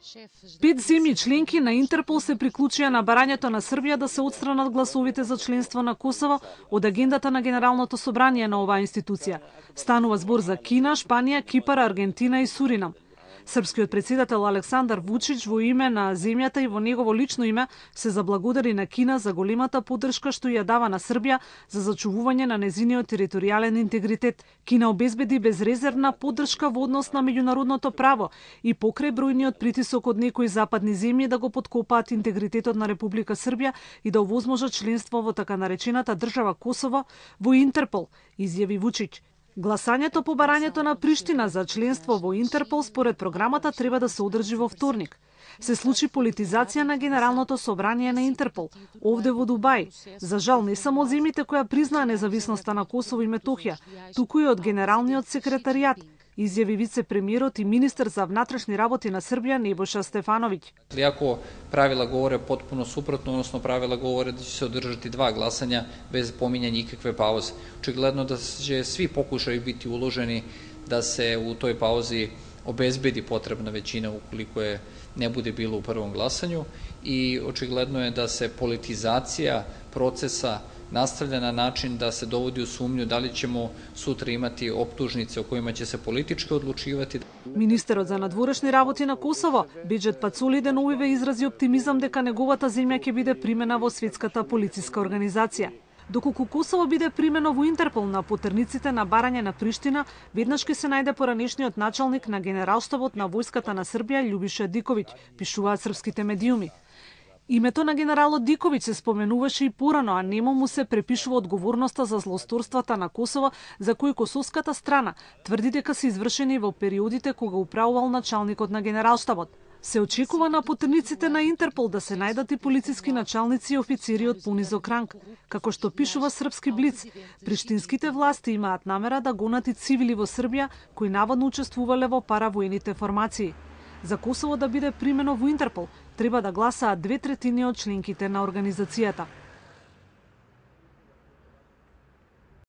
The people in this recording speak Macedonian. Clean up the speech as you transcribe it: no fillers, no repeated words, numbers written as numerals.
5 земји членки на Интерпол се приклучија на барањето на Србија да се отстранат гласовите за членство на Косово од агендата на Генералното собрание на оваа институција. Станува збор за Кина, Шпанија, Кипар, Аргентина и Суринам. Српскиот претседател Александар Вучич во име на земјата и во негово лично име се заблагодари на Кина за големата поддршка што ја дава на Србија за зачувување на незиниот територијален интегритет. Кина обезбеди безрезервна поддршка во однос на меѓународното право и покрај бројниот притисок од некои западни земји да го поткопаат интегритетот на Република Србија и да овозможат членство во така наречената држава Косово во Интерпол, изјави Вучич. Гласањето по барањето на Приштина за членство во Интерпол според програмата треба да се одржи во вторник. Се случи политизација на Генералното собрание на Интерпол, овде во Дубај. За жал не само од земјите која признаа независноста на Косово и Метохија, туку и од Генералниот секретаријат, изјави вице-премиерот и министер за внатрешни работи на Србија Небоша Стефановиќ. Иако правила говоре потпуно супротно, односно правила говоре да ќе се одржати 2 гласања без помињање никакве паузе. Очигледно да ќе сви покушаи бити уложени да се у тој паузи обезбеди потребна веćina ukoliko je ne bude bilo u prvom glasanju i očigledno je da se politizacija procesa nastavlja na način da se dovodi u sumnju da li ćemo sutra imati optužnice o kojima će se politički odlučivati. Министерот за надворешни работи на Косово, Беџет Пацули, деновиве изрази оптимизам дека неговата земја ќе биде примена во светската полициска организација. Доколку Косово биде примено во Интерпол на потерниците на барање на Приштина, веднаш ќе се најде поранешниот началник на Генералштабот на војската на Србија Љубиша Диковиќ, пишуваат српските медиуми. Името на генералот Диковиќ се споменуваше и порано, а нему му се препишува одговорноста за злосторствата на Косово, за кои косовската страна тврди дека се извршени во периодите кога управувал началникот на Генералштабот. Се очекува на потерниците на Интерпол да се најдат и полициски началници и офицери од понизок ранг. Како што пишува српски Блиц, приштинските власти имаат намера да гонат и цивили во Србија кои наводно учествувале во паравоените формации. За Косово да биде примено во Интерпол, треба да гласаат 2/3 од членките на организацијата.